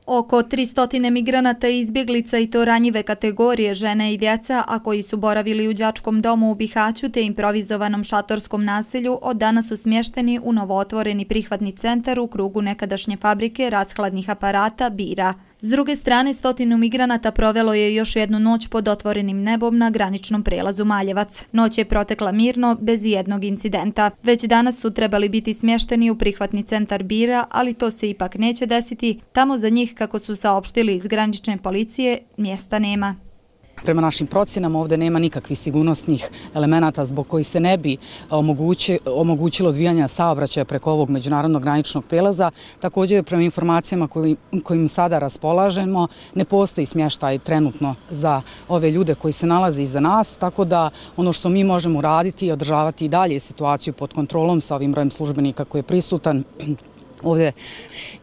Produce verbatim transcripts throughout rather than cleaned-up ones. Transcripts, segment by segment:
Oko tristo migranata i izbjeglica i to ranjive kategorije žene i djeca, a koji su boravili u đačkom domu u Bihaću te improvizovanom šatorskom naselju, od danas su smješteni u novootvoreni prihvatni centar u krugu nekadašnje fabrike rashladnih aparata Bira. S druge strane, stotinu migranata provelo je još jednu noć pod otvorenim nebom na graničnom prelazu Maljevac. Noć je protekla mirno, bez jednog incidenta. Već danas su trebali biti smješteni u prihvatni centar Bira, ali to se ipak neće desiti. Tamo za njih, kako su saopštili iz granične policije, mjesta nema. Prema našim procjenama ovdje nema nikakvih sigurnosnih elemenata zbog koji se ne bi omogućilo odvijanje saobraćaja preko ovog međunarodnog graničnog prelaza. Također, prema informacijama kojim sada raspolažemo, ne postoji smještaj trenutno za ove ljude koji se nalaze iza nas, tako da ono što mi možemo raditi je održavati i dalje situaciju pod kontrolom sa ovim brojem službenika koji je prisutan ovdje.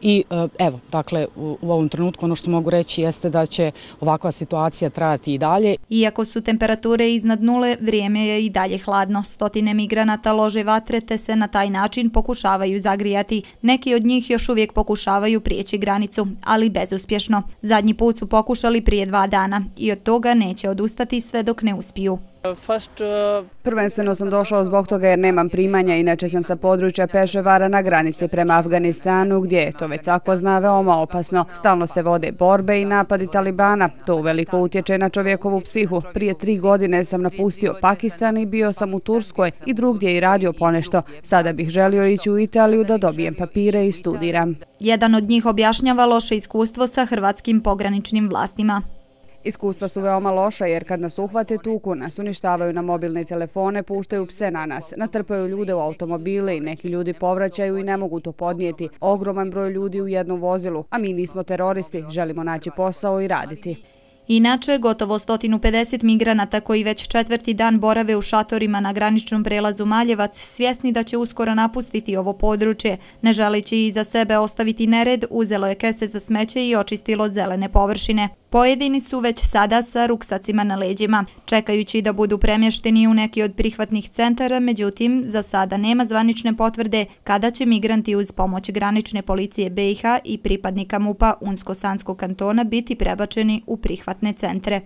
I evo, dakle, u ovom trenutku ono što mogu reći jeste da će ovakva situacija trajati i dalje. Iako su temperature iznad nule, vrijeme je i dalje hladno. Stotine migranata lože vatre te se na taj način pokušavaju zagrijati. Neki od njih još uvijek pokušavaju prijeći granicu, ali bezuspješno. Zadnji put su pokušali prije dva dana i od toga neće odustati sve dok ne uspiju. Prvenstveno sam došao zbog toga jer nemam primanja, inače sam sa područja Peševara na granici prema Afganistanu, gdje je to već svako zna veoma opasno. Stalno se vode borbe i napadi Talibana. To uveliko utječe na čovjekovu psihu. Prije tri godine sam napustio Pakistan i bio sam u Turskoj i drugdje i radio ponešto. Sada bih želio ići u Italiju da dobijem papire i studiram. Jedan od njih objašnjava loše iskustvo sa hrvatskim pograničnim vlastima. Iskustva su veoma loša jer kad nas uhvate tuku, nas uništavaju na mobilne telefone, puštaju pse na nas, natrpaju ljude u automobile i neki ljudi povraćaju i ne mogu to podnijeti. Ogroman broj ljudi u jednom vozilu, a mi nismo teroristi, želimo naći posao i raditi. Inače, gotovo sto pedeset migranata koji već četvrti dan borave u šatorima na graničnom prelazu Maljevac, svjesni da će uskoro napustiti ovo područje, ne želeći iza sebe ostaviti nered, uzelo je kese za smeće i očistilo zelene površine. Pojedini su već sada sa ruksacima na leđima, čekajući da budu premješteni u neki od prihvatnih centara, međutim, za sada nema zvanične potvrde kada će migranti uz pomoć granične policije B iH i pripadnika MUP-a Unsko-Sanskog kantona biti prebačeni u prihvatne centre.